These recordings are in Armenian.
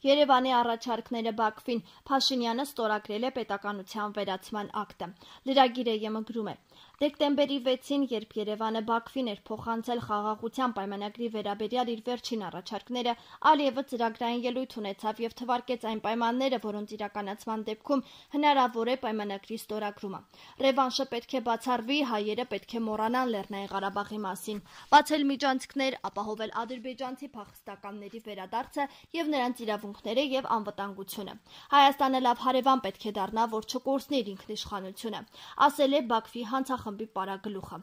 Երևանի առաջարկները Բաքվին, Փաշինյանը ստորագրել է պետականության վերացման ակտը։ Լրագիրը ԵՄ գրում է. Դեկտեմբերի 6-ին, երբ Երևանը Բաքվին էր փոխանցել խաղաղության պայմանագրի վերաբերյալ իր վերջին առաջարկները, Ալիևը ծրագրային ելույթ ունեցավ եւ թվարկեց այն պայմանները, որոնց իրականացման դեպքում հնարավոր է պայմանագրի ստորագրումը։ Ռևանշը պետք է բացառվի, հայերը պետք է մոռանան Լեռնային Ղարաբաղի մասին, բացել միջանցքներ, ապահովել ադրբեջանցի փախստականների վերադարձը եւ նրանց իրավունքները եւ անվտանգությունը։ Հայաստանը լավ հարևան պետք է դառնա, որ չկորցնի իր ինքնիշխանությունը, ասել է Բաքվի հանցախմբի պարագլուխը։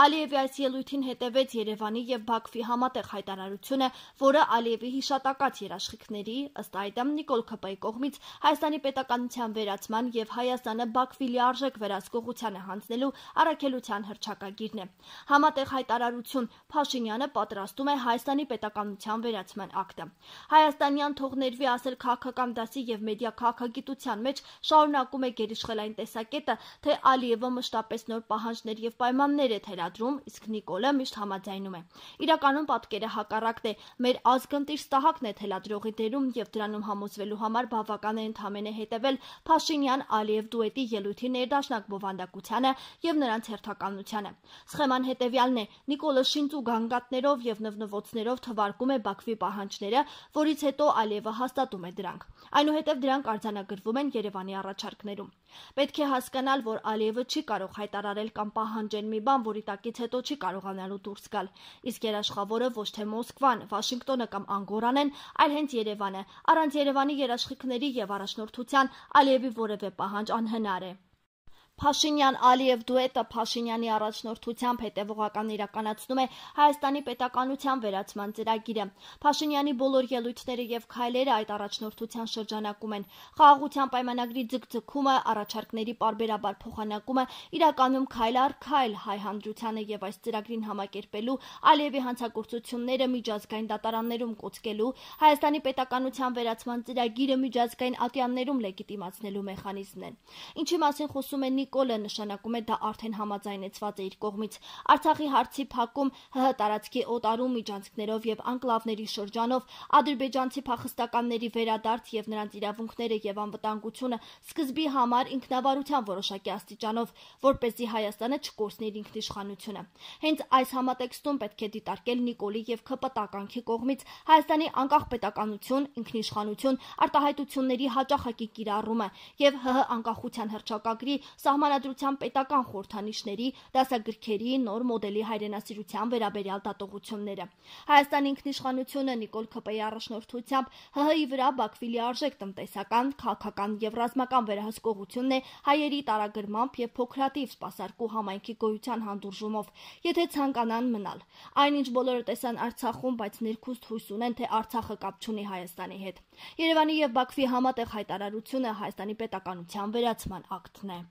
Ալիևի այս ելույթին հետևեց Երևանի եւ Բաքվի համատեղ հայտարարությունը, որը Ալիևի հիշատակած երաշխիքների, ըստ այդմ Նիկոլ Քպ-ի կողմից Հայաստանի պետականության վերացման եւ Հայաստանը Բաքվի լիարժեք վերահսկողությանը հանձնելու առաքելության հռչակագիրն է։ Համատեղ հայտարարություն Փաշինյանը պատրաստում է Հայաստանի պետականության վերացման ակտը։ Հայաստանյան թող ներվի ասել քաղաքական դասի եւ մեդիա քաղաքագիտության մեջ շարունակում է գերիշխել այն տեսակետը, թե Ալիևը մշտապես նոր պահանջներ եւ պայմաններ է թելադրում, իսկ Նիկոլը միշտ համաձայնում է։ Իրականում պատկերը հակառակն է, մեր ազգընտիր ստահակն է թելադրողի դերում եւ դրանում համոզվելու համար բավական է ընդհանրապես հետեւել Փաշինյան-Ալիև դուետի ելույթի ներդաշնակ բովանդակությանը եւ նրանց հերթականությանը։ Սխեման հետեւյալն է. Նիկոլը շինծու գանգատներով եւ նվնվոցներով թվարկում է Բաքվի պահանջները, որից հետո Ալիևը հաստատում է դրանք։ Այնուհետև դրանք արձանագրվում են Երևանի առաջարկներում։ Պետք է հասկանալ, որ Ալիևը չի կարող հայտարարել կամ պահանջել մի բան, որի տակից հետո չի կարողանալու դուրս գալ։ Իսկ երաշխավորը ոչ թե Մոսկվան, Վաշինգտոնը կամ Անգորան են, այլ հենց Երևանը։ Առանց Երևանի երաշխիքների եւ առաջնորդության Ալիևի որևէ պահանջ անհնար է։ Փաշինյան-Ալիև դուետը Փաշինյանի առաջնորդությամբ հետևողական իրականացնում է Հայաստանի պետականության վերացման ծրագիրը։ Փաշինյանի բոլոր ելույթները եւ քայլերը այդ առաջնորդության շրջանակում են։ Խաղաղության պայմանագրի ձգձգումը, առաջարկների պարբերաբար փոխանակումը, իրականում քայլ առ քայլ հայ հանրությանը եւ այս ծրագրին համակերպելու, Ալիևի հանցագործությունները միջազգային դատարաններում կոծկելու, Հայաստանի պետականության վերացման ծրագիրը միջազգային ատյաններում լեգիտիմացնելու մեխանիզմն են։ Ինչի մասին խոսում է Նիկոլը, նշանակում է դա արդեն համաձայնեցված է իր կողմից։ Արցախի հարցի փակում, ՀՀ տարածքի օտարում միջանցքներով եւ անկլավների շրջանով, ադրբեջանցի փախստականների վերադարձ եւ նրանց իրավունքները եւ անվտանգությունը սկզբի համար ինքնավարության որոշակի աստիճանով, որպեսզի Հայաստանը չկորցնի իր ինքնիշխանությունը։ Հենց այս համատեքստում պետք է դիտարկել Նիկոլի եւ ՔՊ տականքի կողմից Հայաստանի անկախ պետականություն, ինքնիշխանություն, արտահայտությունների հաճախակի կիրառումը եւ ՀՀ անկախության հռչակագրի Սահմանադրության պետական խորհրդանիշների, դասագրքերի, նոր մոդելի հայրենասիրության վերաբերյալ դատողությունները։ Հայաստանի ինքնիշխանությունը Նիկոլ Քպ-ի առաջնորդությամբ ՀՀ-ի վրա Բաքվի լիարժեք տնտեսական, քաղաքական եւ ռազմական վերահսկողությունն է հայերի տարագրմամբ եւ փոքրաթիվ սպասարկու համայնքի գոյության հանդուրժումով, եթե ցանկանան մնալ։ Այնինչ բոլորը տեսան Արցախում, բայց ներքուստ հույս ունեն, թե Արցախը կապ չունի Հայաստանի հետ։ Երևանի եւ Բաքվի համատեղ հայտարարությունը Հայաստանի պետականության վերացման ակտն է։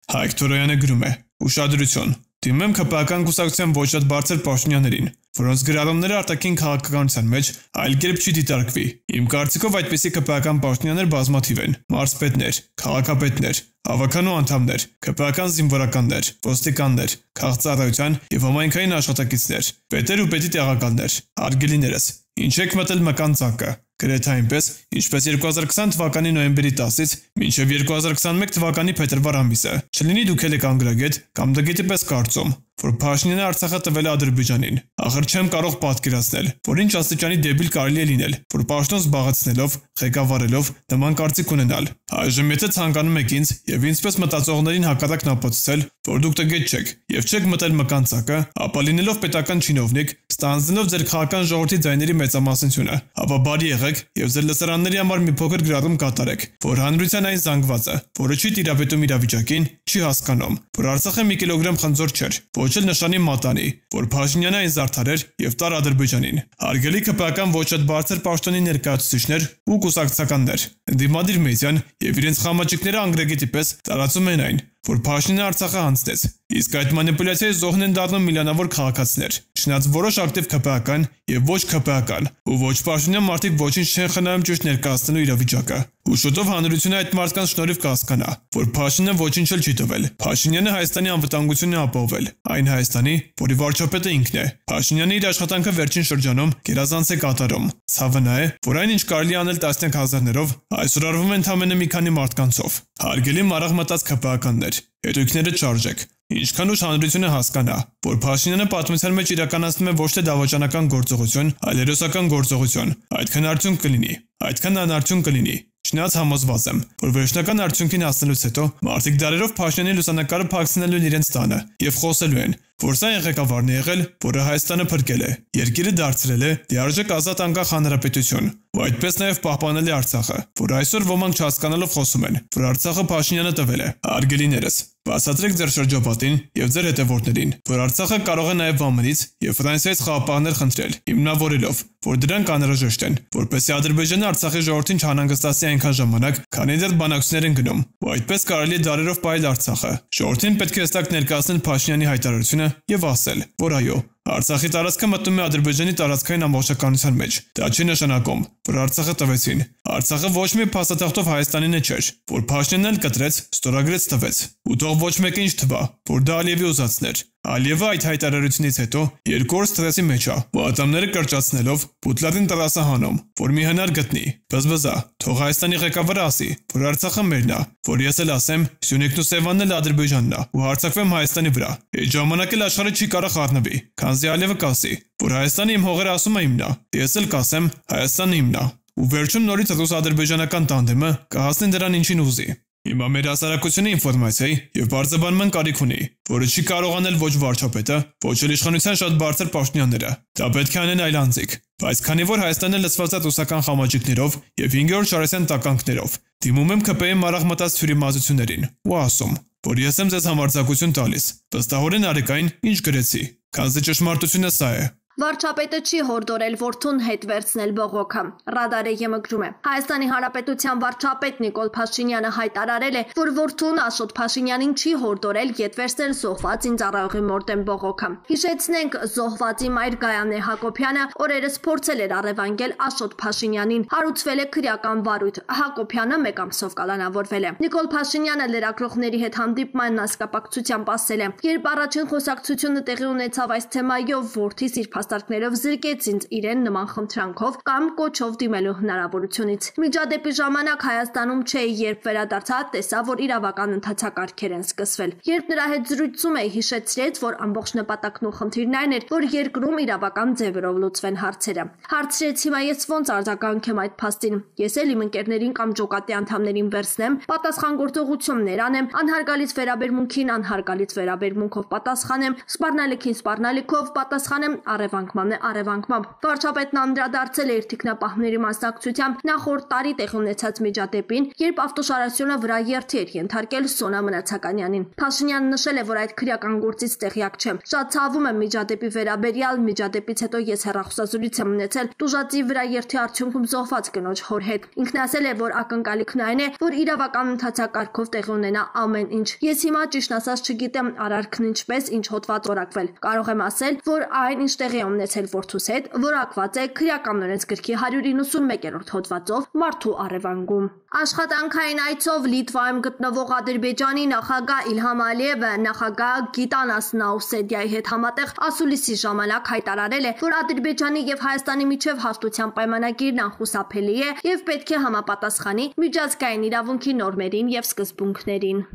Հայկ Թորոյանը գրում է. Ուշադրություն, դիմեմ ԿՊ-ական կուսակցության ոչ շատ բարձր պաշտոնյաներին, որոնց գրառումները արտաքին քաղաքականության մեջ այլ կերպ չի դիտարկվի։ Իմ կարծիքով այդպիսի ԿՊ-ական պաշտոնյաներ բազմաթիվ են՝ մարզպետներ, քաղաքապետներ, հավաքանու անդամներ, ԿՊ-ական զինվորականներ, ոստիկաններ, քաղաքծառայության եւ համայնքային աշխատակիցներ, պետեր ու պետի տեղակալներ, հարգելիներս, ինչ եք մտել մկան ծակը։ Գրեթե այնպես, ինչպես 2020 թվականի նոյեմբերի 10-ից մինչև 2021 թվականի փետրվար ամիսը, չլինի դուք եք անգրագետ կամ դգետի պես կարծում, որ Փաշինյանը Արցախը տվել է Ադրբեջանին։ Ախր չեմ կարող պատկերացնել, որ ինչ աստիճանի դեբիլ կարելի է լինել, որ պաշտոն զբաղեցնելով, ղեկավարելով նման կարծիք ունենալ։ Այժմ եթե ցանկանում եք ինձ եւ ինձպես մտածողներին հակառակն ապացուցել, որ դուք տգետ չեք եւ չեք մտել մկան ծակը, ապա լինելով պետական չինովնիկ, ստանձնելով ձեր քաղաքական ժողովրդի ձայների մեծամասնությունը, ապա բարի եղեք եւ ձեր լսարանների համար մի փոքր գրառում կատարեք, որ հանրության այն զանգվածը, որը չի տիրապետում իրավիճակին, չի հասկանում, որ Արցախը մի կիլոգրամ խնձոր չէր, ոչ էլ նշանի մատանի, որ Փաշինյանը այն զարդարեր եւ տար Ադրբեջանին։ Հարգելի ԿՊ-ական ոչ շատ բարձր պաշտոնի ներկայացուցիչներ ու կուսակցականներ, ընդդիմադիր մեդիան եւ իրենց խամաճիկները անգրեգետի պես տարածում են այն, որ Փաշինյանը Արցախը հանձնեց, իսկ այդ մանիպուլյացիայի զոհն են դառնում միլիոնավոր քաղաքացիներ, չնայած որոշ ակտիվ ՔՊԱ-ական եւ ոչ ՔՊԱ-ական ու ոչ Փաշինյան մարդիկ ոչինչ չեն խնայում ճիշտ ներկայացնելու իրավիճակը։ Ու շուտով հանրությունը այդ մարդկանց շնորհիվ կհասկանա, որ Փաշինյանը ոչինչ էլ չի տվել։ Փաշինյանը Հայաստանի անվտանգությունն է ապահովել, այն Հայաստանի, որի վարչապետը ինքն է։ Փաշինյանը իր աշխատանքը վերջին շրջանում գերազանց է կատարում։ Ցավը նա է, որ այն ինչ կարելի անել տասնյակ հազարներով, այսօր արվում է ընդամենը մի քանի մարդկանցով։ Հարգելի մարաղ մտած ՔՊԱ-ականներ, հետույքները չարժեք։ Ինչքան ուշ հանրությունը հասկանա, որ Փաշինյանը պատմության մեջ իրականացնում է ոչ թե դավաճանական գործողություն, այլ հերոսական գործողություն, այդքան արդյունք կլինի, այդքան անարդյունք կլինի։ Չնայած համոզված եմ, որ վերջնական արդյունքին հասնելուց հետո մարդիկ դարերով Փաշինյանի լուսանկարը փակցնելու են իրենց տանը եւ խոսելու են, որ սա ղեկավարն է եղել, որը Հայաստանը փրկել է, երկիրը դարձրել է լիարժեք ազատ անկախ հանրապետություն, ու այդպես նաեւ պահպանել է Արցախը, որ այսօր ոմանք չհասկանալով խոսում են, որ Արցախը Փաշինյանը տվել է։ Արգելիներս, բացատրեք ձեր շրջապատին եւ ձեր հետևորդներին, որ Արցախը կարող է նաեւ ԱՄՆ-ից եւ Ֆրանսիայից խաղապահներ խնդրել, հիմնավորելով, որ դրանք անհրաժեշտ են, որպեսզի Ադրբեջանը Արցախի ժողովրդին չանհանգստացնի այնքան ժամանակ, քանի դեռ բանակցություններ են գնում, ու այդպես կարելի է դարերով պահել Արցախը։ Ժողովրդին պետք է հստակ ներկայացնել Փաշինյանի հայտարարությունը եւ ասել, որ այո, Արցախի տարածքը մտնում է Ադրբեջանի տարածքային ամբողջականության մեջ։ Դա չի նշանակում, որ Արցախը տվեցին։ Արցախը ոչ մի փաստաթղթով Հայաստանին չէր, որ Փաշինյանն էլ կտրեց, ստորագրեց տվեց։ Ու թող ոչ մեկը ինչ թվա, որ դա Ալիևի ուզածն էր։ Ալիևը այդ հայտարարությունից հետո երկու օր սթրեսի մեջ է, ու ատամները կրճացնելով Պուտլատին տրասահանում, որ մի հնար գտնի։ Բզբզա, թող Հայաստանի ղեկավարը ասի, որ Արցախը մերն է, որ ես էլ ասեմ, Սյունիքն ու Սևանն էլ Ադրբեջանն է, ու հարձակվեմ Հայաստանի վրա։ Այդ ժամանակ էլ աշխարհը չի կարող խառնվի, քանզի Ալիևը կասի, որ Հայաստանը իմ հողերը ասում է իմն է, ես էլ կասեմ, Հայաստանը իմն է։ Ու վերջում նորից ռուս-ադրբեջանական տանդեմը կհասնի դրան ինչին ուզի։ Հիմա մեր հասարակությունը ինֆորմացիայի եւ բարձրաբանման կարիք ունի, որը չի կարող անել ոչ վարչապետը, ոչ էլ իշխանության շատ բարձր պաշտոնյաները։ Դա պետք է անեն այլ անձիկ։ Բայց քանի որ Հայաստանը լցված է ռուսական խամաճիկներով եւ 5-րդ շարասյան տականքներով, դիմում եմ ԿՊ-ի մարաղ մտած թյուրիմացություններին ու ասում, որ ես եմ ձեզ համարձակություն տալիս։ Վստահորեն արեք այն, ինչ գրեցի, քանզի ճշմարտությունը սա է։ Վարչապետը չի հորդորել որդուն հետ վերցնել բողոքը։ Ռադարը ԵՄ-գրում է։ Հայաստանի Հանրապետության վարչապետ Նիկոլ Փաշինյանը հայտարարել է, որ որդուն Աշոտ Փաշինյանին չի հորդորել հետ վերցնել զոհված ինձառայողի մորտեն բողոքը։ Հիշեցնենք, զոհվածի մայր Գայանե Հակոբյանը օրերս փորձել էր առևանգել Աշոտ Փաշինյանին։ Հարուցվել է քրեական վարույթ։ Հակոբյանը 1 ամսով կալանավորվել է։ Նիկոլ Փաշինյանը լրագրողների հետ հանդիպման հասկապակցությամբ ասել է. «Երբ առաջին խոսակցությունը տեղի ունեցավ այս թեմայով, որդիս իր փաստարկներով զրկեց ինձ իրեն նման խնդրանքով կամ կոչով դիմելու հնարավորությունից։ Միջադեպի ժամանակ Հայաստանում չէի, երբ վերադարձա, տեսա, որ իրավական ընթացակարգեր են սկսվել։ Երբ նրա հետ զրույցում էի, հիշեցրեց, որ ամբողջ նպատակն ու խնդիրն այն էր, որ երկրում իրավական ձևերով լուծվեն հարցերը։ Հարցրեց հիմա ես ոնց արձագանքեմ այդ փաստին։ Ես էլ իմ ընկերներին կամ ջոկատի անդամներին վերցնեմ, պատասխանատվություններ անեմ, անհարգալից վերաբերմունքին անհարգալից վերաբերմունքով պատասխանեմ, սպառնալիքին սպառնալիքով պատասխանեմ, առևանգմանն է առևանգմամբ։ Վարչապետն անդրադարձել է իր թիկնապահների մասնակցությամբ նախորդ տարի տեղի ունեցած միջադեպին, երբ ավտոշարասյունը վրա երթի էր ենթարկել Սոնա Մնացականյանին։ Փաշինյանը նշել է, որ այդ քրեական գործից տեղյակ չէ։ Շատ ցավում եմ միջադեպի վերաբերյալ, միջադեպից հետո ես հեռախոսազրույց եմ ունեցել տուժածի վրա երթի արդյունքում զոհված կնոջ հոր հետ։ Ինքն ասել է, որ ակնկալիքն այն է, որ իրավական ընթացակարգով տեղի ունենա ամեն ինչ։ Ես հիմա ճիշտ ասած չգիտեմ արարքն ինչպես, ինչ հոդված օրակվել։ Կարող եմ ասել, որ այն ինչ տեղի է ունեցել որդուս հետ, որակված է քրեական օրենսգրքի 191-րդ հոդվածով մարդու առևանգում։ Աշխատանքային այցով Լիտվայում գտնվող Ադրբեջանի նախագահ Իլհամ Ալիևը նախագահ Գիտանաս Նաուսեդիայի հետ համատեղ ասուլիսի ժամանակ հայտարարել է, որ Ադրբեջանի եւ Հայաստանի միջև հաշտության պայմանագիրն անխուսափելի է եւ պետք է համապատասխանի միջազգային իրավունքի նորմերին եւ սկզբունքներին։